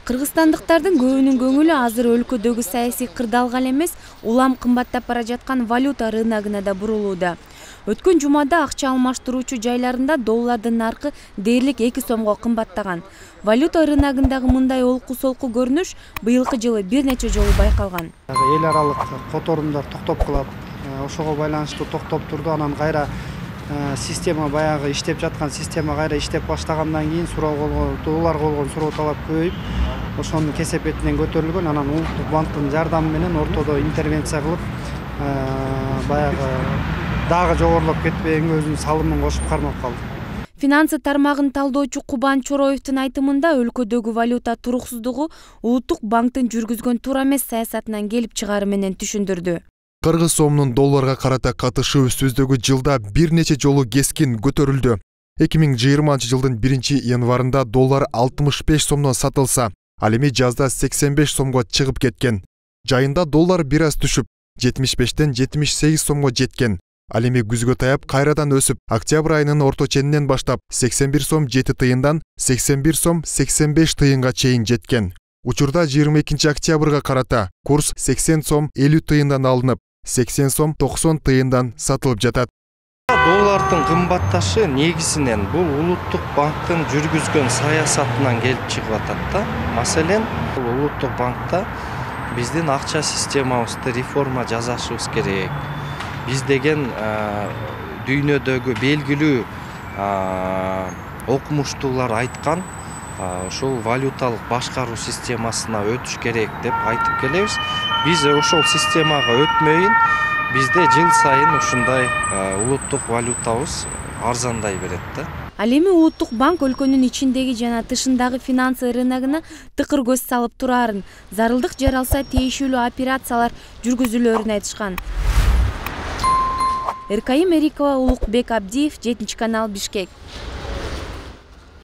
Кыргызстандыктардын көбүнүн көңүлү азыр өлкөдөгү саясий кырдаалга эле эмес, улам кымбаттап бара жаткан валюта рыногуна да бурулууда. Өткөн жумада акча алмаштыруучу жайларында доллардын наркы дээрлик 2 сомго кымбаттаган. Валюта рыногундагы мындай олку-солку көрүнүш быйылкы жылы бир нече жолу байкалган. Эл аралык которумдар токтоп калат. Ошого байланыштуу токтоп турду. Анан кайра система баягы иштеп жаткан система кайра иштеп баштагандан кийин долларга болгон суроо талап көбөйүп, ошонун кесепетинен көтөрүлгөн. Анан Улуттук банктын жардамы менен ортодо интервенция кылып, баягы дагы жогорулап кетпегенге өзүнүн салымын кошуп кармап калды. Финансы тармагын талдоочу Кубан Чороевдун айтымында өлкөдөгү валюта туруксуздугу Улуттук банктын жүргүзгөн туура эмес саясатынан келип чыгаары менен түшүндүрдү. Кыргыз сомунун долларга карата катышы өсүүсүздөгү жылда бир нече жолу кескин көтөрүлдү. 2020 жылдын 1-январында доллар 65 сомдон сатылса, ал эми жазда 85 сомго чыгып кеткен. Жайында доллар бир аз түшүп, 75тен 78 сомго жеткен. Ал эми күзгө таяп кайрадан өсүп, октябрь айынын орто ченинен баштап 81 сом 7 тыйындан 81 сом 85 тыйынга чейин жеткен. Учурда 22 октябрга карата курс 80 сом 50 тыйындан алынып, 80 сом 90 тыйындан сатылып жатат. Доллардын кымбатташы негизинен бул Улуттук банктын жүргүзгөн саясатынан келип чыгып атат да. Маселен, Улуттук банкта биздин акча системабызды реформа жасашыбыз керек. Биз деген дүйнөдөгү белгилүү окумуштуулар айткан ошол валюталык башкаруу системасына өтүш керек деп айтып келебиз. Биз ошол системага өтмөйүн бизде жыл сайын ушундай улуттук валютабыз арзандай берет да. Ал эми Улуттук банк өлкөнүн ичиндеги жана тышындагы финансы рыногуна тыкыр көз салып турарын, зарылдык жаралса тиешелүү операциялар жүргүзүлөрүн айтышкан. Эркайым Эрикова, Улукбек Абдиев, 7 канал, Бишкек.